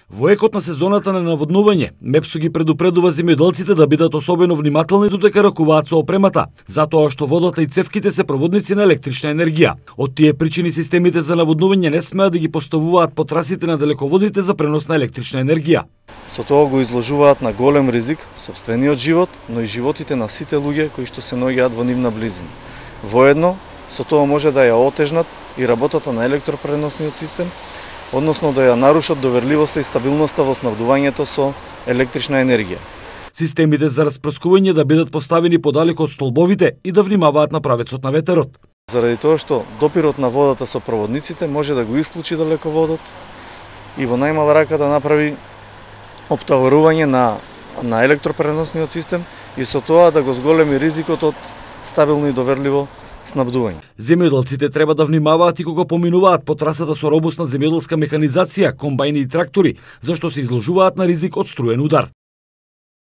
Во екот на сезоната на наводнување, МЕПСО ги предупредува земјоделците да бидат особено внимателни додека ракуваат со опремата, затоа што водата и цевките се проводници на електрична енергија. Од тие причини системите за наводнување не смеат да ги поставуваат по трасите на далеководите за пренос на електрична енергија. Со тоа го изложуваат на голем ризик сопствениот живот, но и животите на сите луѓе кои што се наоѓаат во нивна близина. Воедно, со тоа може да ја отежнат и работата на електропреносниот систем, односно да ја нарушат доверливоста и стабилноста во снабдувањето со електрична енергија. Системите за распрскување да бидат поставени подалеку од столбовите и да внимаваат на правецот на ветерот. Заради тоа што допирот на водата со проводниците може да го исклучи далеководот и во најмала рака да направи оптоварување на електропреносниот систем и со тоа да го зголеми ризикот од стабилно и доверливо снабдување. Земјоделците треба да внимаваат и кога поминуваат по трасата со робусна земјоделска механизација, комбајни и трактори, зашто се изложуваат на ризик од струен удар.